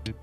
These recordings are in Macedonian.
13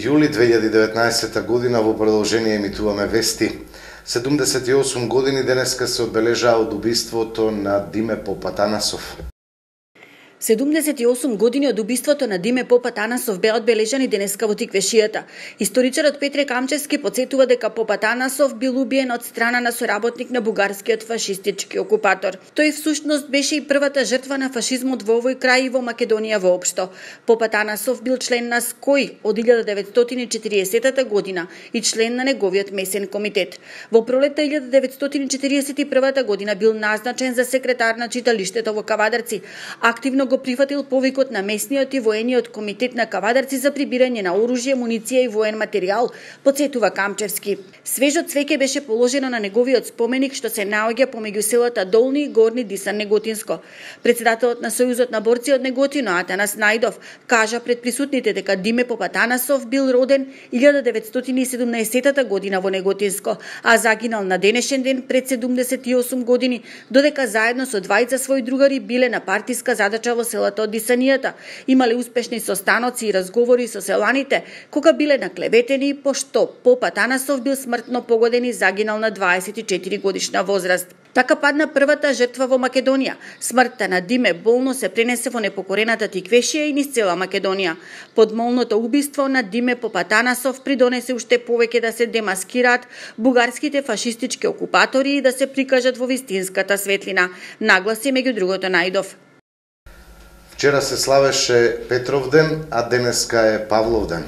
јули 2019 година во продолжение емитуваме вести. 78 години денеска се одбележаа од убиството на Диме Попатанасов. 78 години од убиството на Диме Попатанасов беа одбележани денеска во Тиквешијата. Историчарот Петре Камчевски потсетува дека Попатанасов бил убиен од страна на соработник на бугарскиот фашистички окупатор. Тој всушност беше и првата жртва на фашизмот во овој крај и во Македонија воопшто. Попатанасов бил член на СКОј од 1940 година и член на неговиот месен комитет. Во пролетта 1941 година бил назначен за секретар на читалиштето во Кавадарци. Активно го прифатил повикот на местниот и воениот комитет на Кавадарци за прибирање на оружје, муниција и воен материјал, потсетува Камчевски. Свежо цвеќе беше положено на неговиот споменик што се наоѓа помеѓу селата Долни и Горни Дисан Неготинско. Председателот на Сојузот на борци од Неготино Атанас Најдов кажа пред присутните дека Диме Попатанасов бил роден 1917 година во Неготинско, а загинал на денешен ден пред 78 години, додека заедно со двајца своји другари биле на партиска задача во селото од Дисанијата. Имале успешни состаноци и разговори со селаните, кога биле наклеветени, пошто Попатанасов бил смртно погоден и загинал на 24 годишна возраст. Така падна првата жртва во Македонија. Смртта на Диме болно се пренесе во непокорената Тиквешија и низ цела Македонија. Подмолното убиство на Диме Попатанасов придонесе уште повеќе да се демаскираат бугарските фашистички окупатори и да се прикажат во вистинската светлина, нагласи меѓу другото Најдов. Вчера се славеше Петровден, а денеска е Павловден.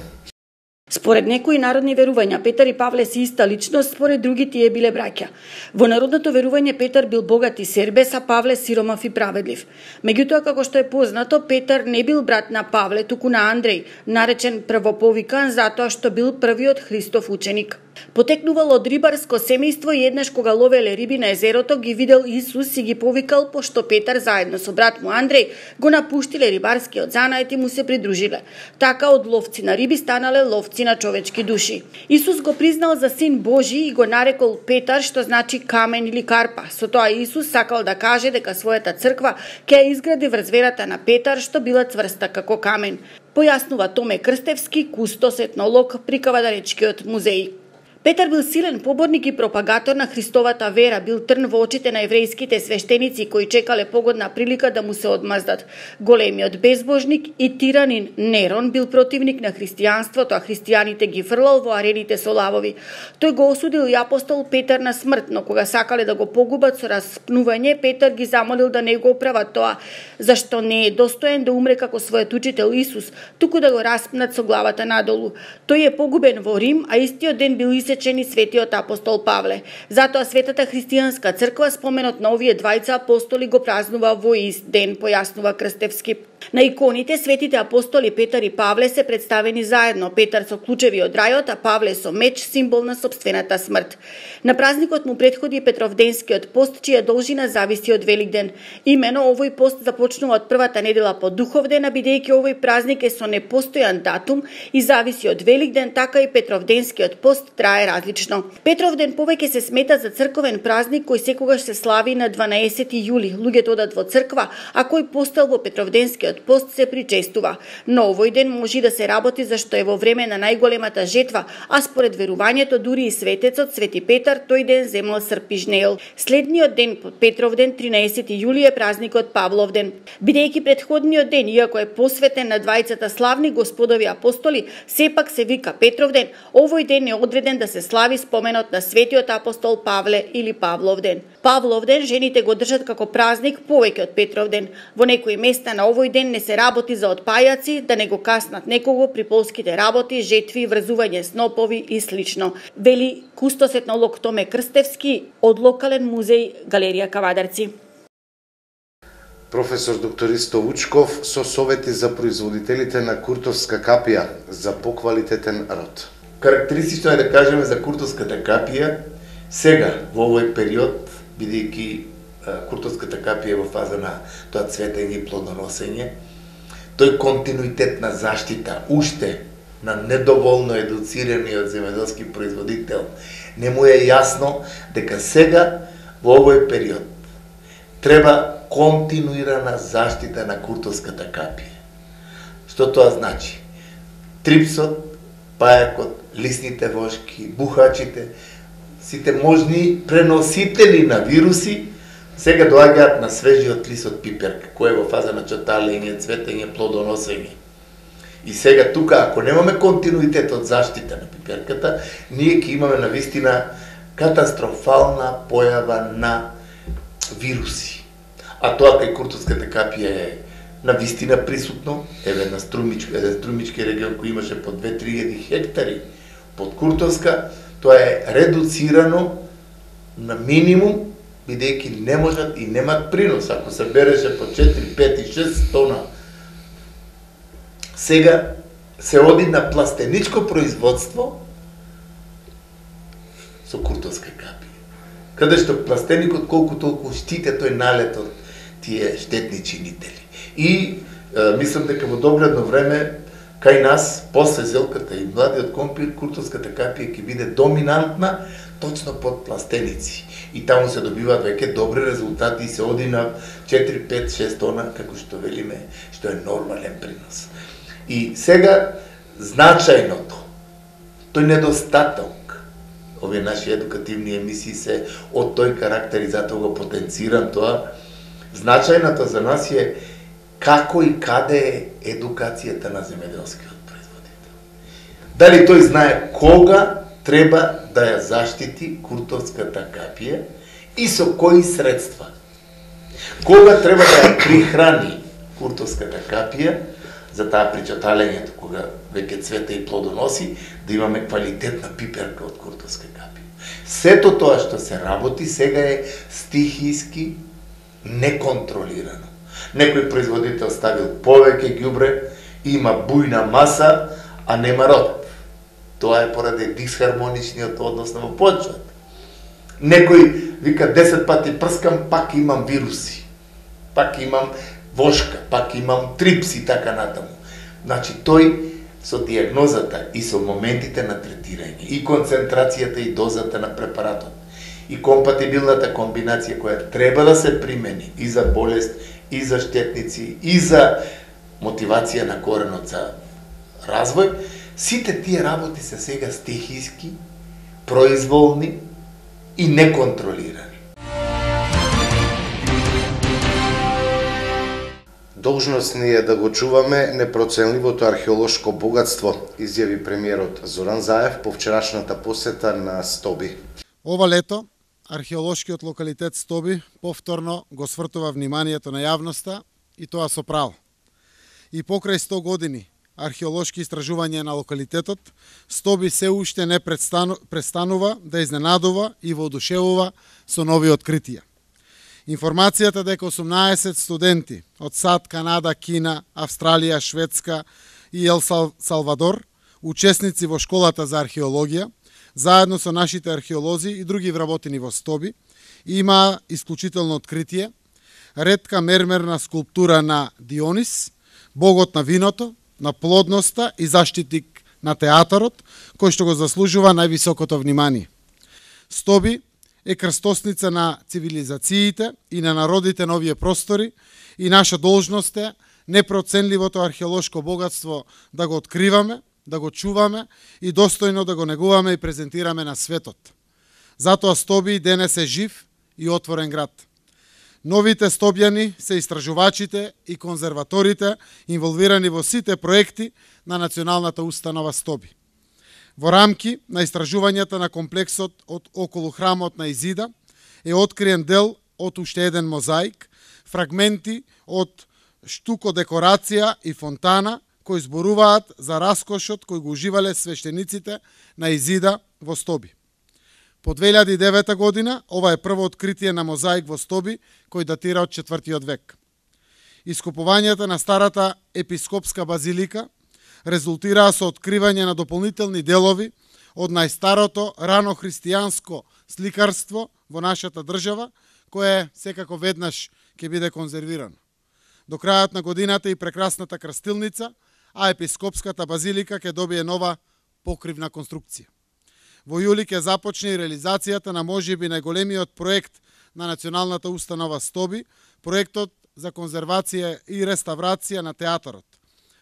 Според некои народни верувања, Петар и Павле се иста личност, според други тие биле браќа. Во народното верување Петар бил богат и сербес, а Павле сиромав и праведлив. Меѓутоа, како што е познато, Петар не бил брат на Павле, туку на Андреј, наречен првоповикан затоа што бил првиот Христов ученик. Потекнувал од рибарско семејство и еднаш кога ловеле риби на езерото ги видел Исус и ги повикал, пошто Петар заедно со брат му Андреј го напуштиле рибарскиот занает и му се придружиле. Така од ловци на риби станале ловци на човечки души. Исус го признал за син Божи и го нарекол Петар, што значи камен или карпа. Со тоа Исус сакал да каже дека својата црква ќе ја изгради врз верата на Петар, што била цврста како камен. Појаснува Томе Крстевски, кустос етнолог при Кавадаречкиот музеј. Петар бил силен поборник и пропагатор на Христовата вера, бил трн во очите на еврејските свештеници кои чекале погодна прилика да му се одмаздат. Големиот безбожник и тиранин Нерон бил противник на христијанството, а христијаните ги фрлал во арените со лавови. Тој го осудил и апостол Петар на смрт, но кога сакале да го погубат со распнување, Петар ги замолил да не го оправат тоа, зашто не е достоен да умре како својот учител Исус, туку да го распнат со главата надолу. Тој е погубен во Рим, а истиот ден бил исечени светиот апостол Павле. Затоа Светата христијанска црква споменот на овие двајца апостоли го празнува во ист ден, појаснува Крстевски. На иконите светите апостоли Петар и Павле се представени заедно, Петар со клучеви од рајот, а Павле со меч, символ на сопствената смрт. На празникот му претходи Петровденскиот пост, чија должина зависи од Великден. Имено овој пост започнува од првата недела по Духовден, а бидејќи овој празник е со непостојан датум и зависи од Великден, така и Петровденскиот пост трае различно. Петровден повеќе се смета за црковен празник кој секогаш се слави на 12 јули. Луѓето одат во црква, а кој постел во Петровденскиот пост се причестува. Но овој ден може да се работи зашто е во време на најголемата жетва, а според верувањето дури и светецот Свети Петар тој ден земал срп и жнеел. Следниот ден под Петровден 13 јули е празникот Павловден. Бидејќи претходниот ден, иако е посветен на двајцата славни господови апостоли, сепак се вика Петровден, овој ден е одреден да се слави споменот на светиот апостол Павле или Павловден. Павловден жените го држат како празник повеќе од Петровден. Во некои места на овој ден не се работи за отпајаци, да не го каснат некого при полските работи, жетви, врзување снопови и слично. Вели кустос етнолог Томе Крстевски од локален музеј Галерија Кавадарци. Професор доктористо Вучков со совети за производителите на куртовска капија за поквалитетен род. Карактеристично е да кажеме за куртовската капија сега во овој период, бидејќи куртовската капија во фаза на тоа цветење и плодоносење, тој континуитет на заштита уште на недоволно едуцираниот земјоделски производител не му е јасно дека сега во овој период треба континуирана заштита на куртовската капија. Што тоа значи? Трипсот, пајакот, лисните вошки, бухачите, сите можни преносители на вируси, сега доаѓаат на свежиот лист од пиперка, кој е во фаза на чоталење, цветење, плодоносење. И сега тука, ако немаме континуитет од заштита на пиперката, ние ќе имаме навистина катастрофална појава на вируси. А тоа кај куртовската капија е навистина присутно, еден струмички регион кој имаше по 2-3 хектари под куртовска, тоа е редуцирано на минимум, бидејќи не можат и немат принос. Ако се береше по 4, 5 и 6 тона, сега се оди на пластеничко производство со куртовска капија. Каде што пластеникот колку толку штите тој налет од тие штетни чинители. И мислам дека во догледно време кај нас, после зелката и младиот компир, куртовската капија ќе биде доминантна точно под пластеници. И таму се добиваат веќе добри резултати и се оди на 4, 5, 6 тона, како што велиме, што е нормален принос. И сега, значајното, тој недостаток, овие наши едукативни емисии се од тој карактер и затоа го потенцирам тоа, значајното за нас е како и каде е едукацијата на земјоделскиот производител. Дали тој знае кога треба да ја заштити куртовската капија и со кои средства. Кога треба да ја прихрани куртовската капија, за таа причаталењето, кога веќе цвете и плодоноси, да имаме квалитетна пиперка од куртовска капија. Сето тоа што се работи сега е стихиски, неконтролирано. Некој производител ставил повеќе ѓубре, има бујна маса, а нема род. Тоа е поради дисхармоничниот однос на почвата. Некој вика 10 пати прскам, пак имам вируси. Пак имам вошка, пак имам трипс и така натаму. Значи тој со диагнозата и со моментите на третирање, и концентрацијата и дозата на препаратот, и компатибилната комбинација која треба да се примени и за болест, и за штетници, и за мотивација на коренот за развој, сите тие работи се сега стихиски, произволни и неконтролирани. Должност ни е да го чуваме непроценливото археолошко богатство, изјави премиерот Зоран Заев по вчерашната посета на Стоби. Ова лето, археолошкиот локалитет Стоби повторно го свртува вниманието на јавноста и тоа со право. И покрај 100 години археолошки истражувања на локалитетот, Стоби се уште не престанува да изненадува и воодушевува со нови откритија. Информацијата дека 18 студенти од САД, Канада, Кина, Австралија, Шведска и Ел Салвадор, учесници во школата за археологија, заедно со нашите археолози и други вработени во Стоби, има исклучително откритие, ретка мермерна скулптура на Дионис, богот на виното, на плодноста и заштитник на театарот, кој што го заслужува највисокото внимание. Стоби е крстосница на цивилизациите и на народите на овие простори и наша должност е непроценливото археолошко богатство да го откриваме, да го чуваме и достојно да го негуваме и презентираме на светот. Затоа Стоби денес е жив и отворен град. Новите стобјани се истражувачите и конзерваторите инволвирани во сите проекти на Националната установа Стоби. Во рамки на истражувањата на комплексот од околу храмот на Изида е откриен дел од уште еден мозаик, фрагменти од штуко декорација и фонтана кои зборуваат за раскошот кој го уживале свештениците на Изида во Стоби. По 2009 година ова е прво откритие на мозаик во Стоби кој датира од 4 век. Ископувањата на старата епископска базилика резултираа со откривање на дополнителни делови од најстарото рано христијанско сликарство во нашата држава, кое секако веднаш ќе биде конзервирано. До крајот на годината и прекрасната крстилница, а епископската базилика ќе добие нова покривна конструкција. Во јули ќе започне и реализацијата на можеби најголемиот проект на Националната установа Стоби проектот за конзервација и реставрација на театарот.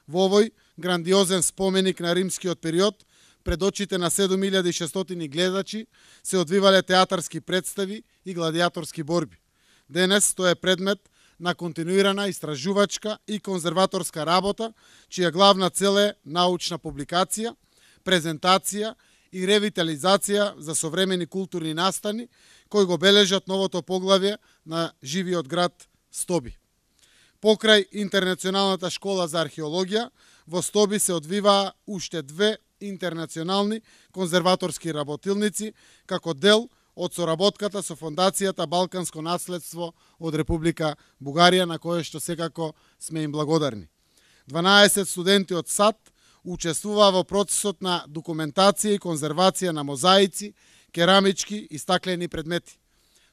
Во овој грандиозен споменик на римскиот период, пред очите на 7600 гледачи се одвивале театарски представи и гладиаторски борби. Денес тој е предмет на континуирана истражувачка и конзерваторска работа, чија главна цел е научна публикација, презентација и ревитализација за современи културни настани кои го бележат новото поглавје на живиот град Стоби. Покрај Интернационалната школа за археологија, во Стоби се одвиваа уште две интернационални конзерваторски работилници како дел од соработката со Фондацијата Балканско наследство од Република Бугарија, на кое што секако сме им благодарни. 12 студенти од САД учествуваа во процесот на документација и конзервација на мозаици, керамички и стаклени предмети.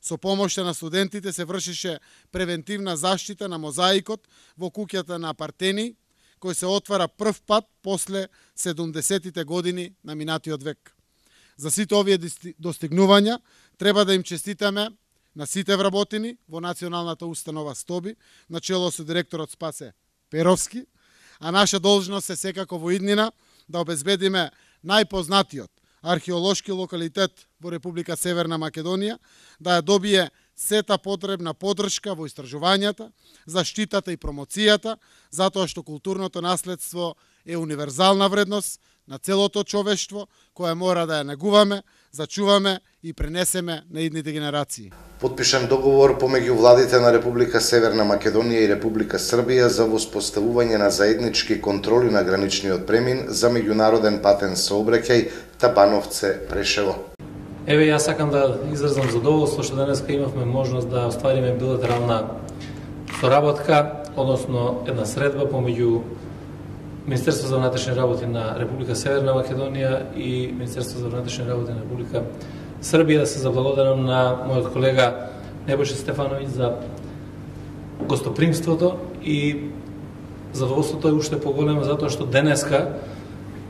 Со помошта на студентите се вршеше превентивна заштита на мозаикот во куќата на Партени, кој се отвара прв пат после 70-тите години на минатиот век. За сите овие достигнувања треба да им честитаме на сите вработени во Националната установа Стоби, начело со директорот Спасе Перовски, а наша должност е секако во иднина да обезбедиме најпознатиот археолошки локалитет во Република Северна Македонија, да ја добие сета потребна поддршка во истражувањата, заштитата и промоцијата, затоа што културното наследство е универзална вредност на целото човештво, која мора да ја негуваме, зачуваме и пренесеме на идните генерации. Потпишан договор помеѓу владите на Република Северна Македонија и Република Србија за воспоставување на заеднички контроли на граничниот премин за меѓународен патен сообраќај Табановце-Прешево. Еве, јас сакам да изразам задоволство што денеска имавме можност да оствариме билатерална соработка, односно една средба помеѓу Министерство за внатрешни работи на Република Северна Македонија и Министерство за внатрешни работи на Република Србија. Да се заблагодарам на мојот колега Небојша Стефановиќ за гостопримството и задоволството е уште поголемо затоа што денеска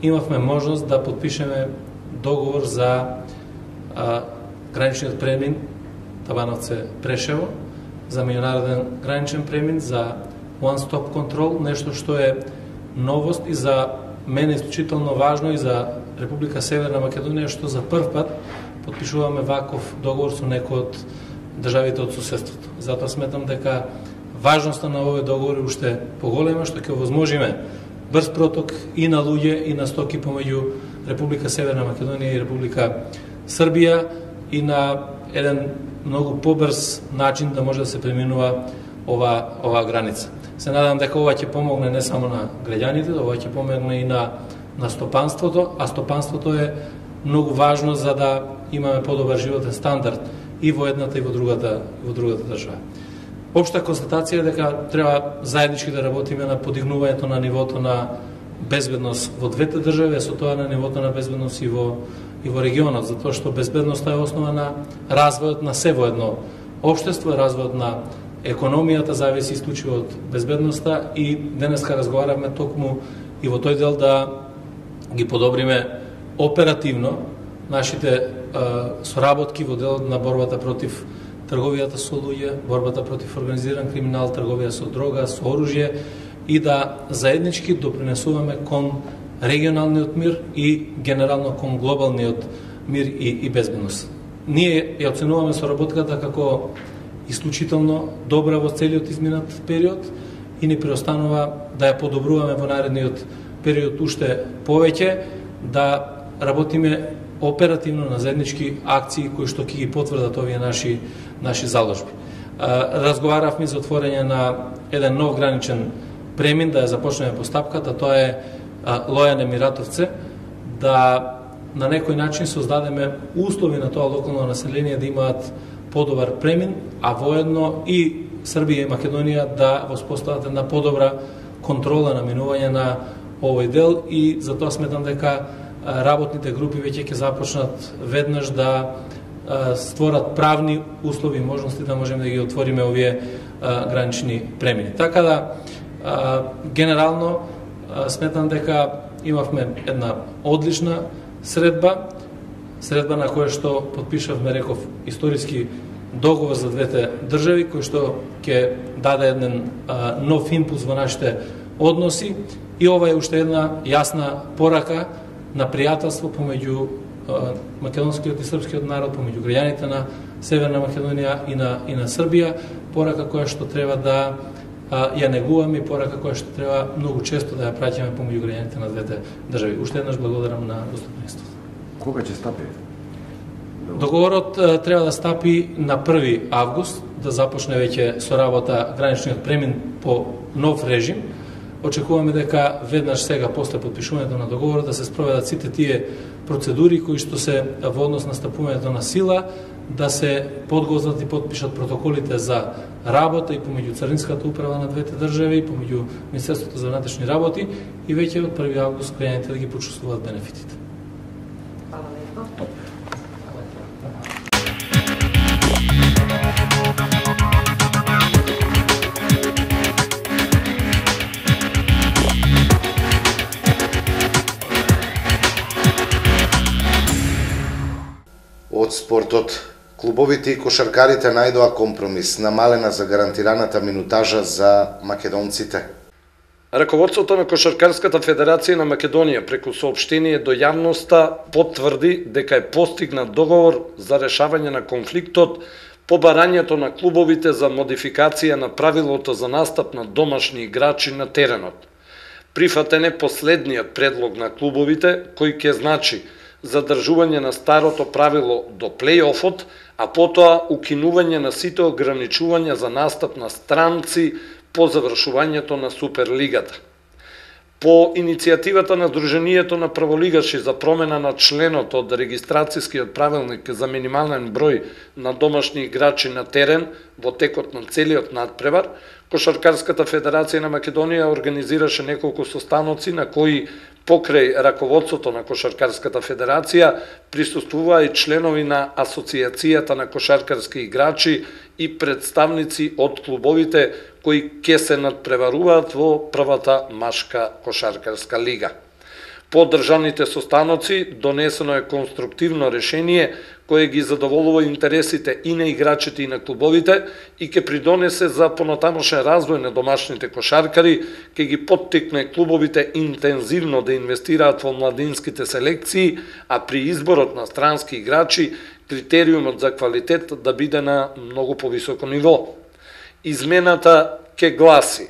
имавме можност да подпишеме договор за граничниот премин Табановце-Прешево, за меѓународен граничен премин, за one-stop контрол, нешто што е новост и за мене исклучително важно и за Република Северна Македонија, што за прв пат подпишуваме ваков договор со некој од државите од суседството. Затоа сметам дека важноста на овој договор е уште поголема, што ќе овозможиме брз проток и на луѓе и на стоки помеѓу Република Северна Македонија и Република Србија и на еден многу побрз начин да може да се преминува ова граница. Се надам дека ова ќе помогне не само на граѓаните, ова ќе помогне и на стопанството, а стопанството е многу важно за да имаме подобар животен стандард и во едната и во другата држава. Општа констатација е дека треба заеднички да работиме на подигнувањето на нивото на безбедност во двете држави, со тоа на нивото на безбедност и во регионот, затоа што безбедноста е основа на развојот на се во едно општество, развојот на економијата зависи исклучиво од безбедноста и денеска разговаравме токму и во тој дел да ги подобриме оперативно нашите соработки во делот на борбата против трговијата со луѓе, борбата против организиран криминал, трговија со дрога, со оружје и да заеднички допринесуваме кон регионалниот мир и генерално кон глобалниот мир и безбедност. Ние ја оценуваме соработката како исклучително добра во целиот изминат период и ни преостанува да ја подобруваме во наредниот период уште повеќе, да работиме оперативно на заеднички акции кои што ќе ги потврдат овие наши заложби. Разговаравме за отворање на еден нов граничен премин, да ја започнеме постапката, тоа е Лојане-Миратовце, да на некој начин создадеме услови на тоа локално население да имаат подобар премин, а воедно и Србија и Македонија да воспостават една подобра контрола на минување на овој дел и затоа сметам дека работните групи веќе ќе започнат веднаш да створат правни услови и можности да можеме да ги отвориме овие гранични премини. Така да, генерално, сметам дека имавме една одлична средба на која што подпишавме, реков, историски договор за двете држави кој што ќе даде еден нов импулс во нашите односи и ова е уште една јасна порака на пријателство помеѓу македонскиот и српскиот народ, помеѓу граѓаните на Северна Македонија и на Србија, порака која што треба да ја негуваме и порака која што треба многу често да ја праќаме помеѓу граѓаните на двете држави. Уште еднаш благодарам на гостопримството. Кога ќе стапи? Договорот треба да стапи на 1 август, да започне веќе со работа граничниот премин по нов режим. Очекуваме дека веднаш сега после потпишувањето на договорот да се спроведат сите тие процедури кои што се во однос на стапувањето на сила, да се подготват и подпишат протоколите за работа и помеѓу Царинската управа на двете држави, помеѓу Министерството за внатрешни работи и веќе од 1 август граѓаните да ги почувствуваат бенефитите. Од спортот, клубовите и кошаркарите најдоа компромис, намалена за гарантираната минутажа за македонците. Раководството на Кошаркарската федерација на Македонија преку соопштение до јавноста потврди дека е постигнат договор за решавање на конфликтот по барањето на клубовите за модификација на правилото за настап на домашни играчи на теренот. Прифатен е последниот предлог на клубовите, кој ќе значи задржување на старото правило до плей-офот, а потоа укинување на сите ограничувања за настап на странци по завршувањето на Суперлигата. По иницијативата на Сдруженијето на праволигаши за промена на членот од регистрацијскиот правилник за минимален број на домашни играчи на терен во текот на целиот надпревар, Кошаркарската федерација на Македонија организираше неколку состаноци на кои покрај раководството на Кошаркарската федерација присуствуваа и членови на Асоцијацијата на кошаркарски играчи и представници од клубовите кои ќе се надпреваруваат во првата машка кошаркарска лига. По одржаните состаноци донесено е конструктивно решение кое ги задоволува интересите и на играчите и на клубовите и ќе придонесе за понатамошен развој на домашните кошаркари, ќе ги поттикне клубовите интензивно да инвестираат во младинските селекции, а при изборот на странски играчи критериумот за квалитет да биде на многу повисоко ниво. Измената ќе гласи: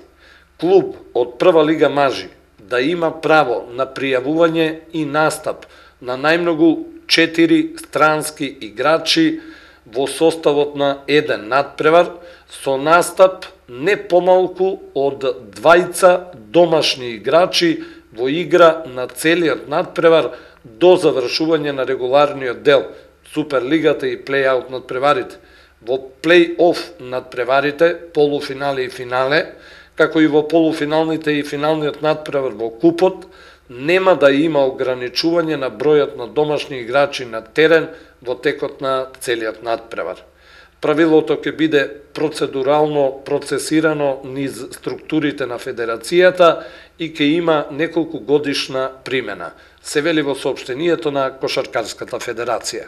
клуб од прва лига мажи да има право на пријавување и настап на најмногу 4 странски играчи во составот на еден надпревар со настап не помалку од 2 домашни играчи во игра на целиот надпревар до завршување на регуларниот дел Суперлигата и плей-аут надпреварите. Во плей-оф надпреварите, полуфинале и финале, како и во полуфиналните и финалниот надпревар во купот, нема да има ограничување на бројот на домашни играчи на терен во текот на целиот надпревар. Правилото ќе биде процедурално процесирано низ структурите на федерацијата и ќе има неколку годишна примена, се вели во соопштението на Кошаркарската федерација.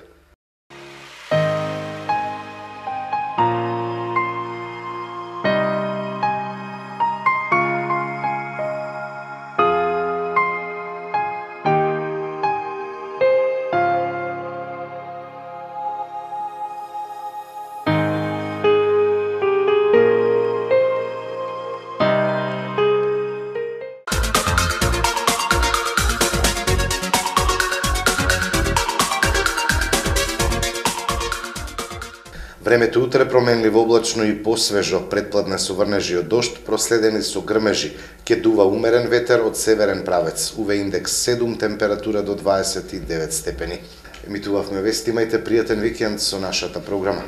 Времето утре променливо облачно и посвежо, предпладне со врнежи од дожд, проследени со грмежи. Ќе дува умерен ветер од северен правец. УВ индекс 7, температура до 29 степени. Емитувавме вести, имајте пријатен викенд со нашата програма.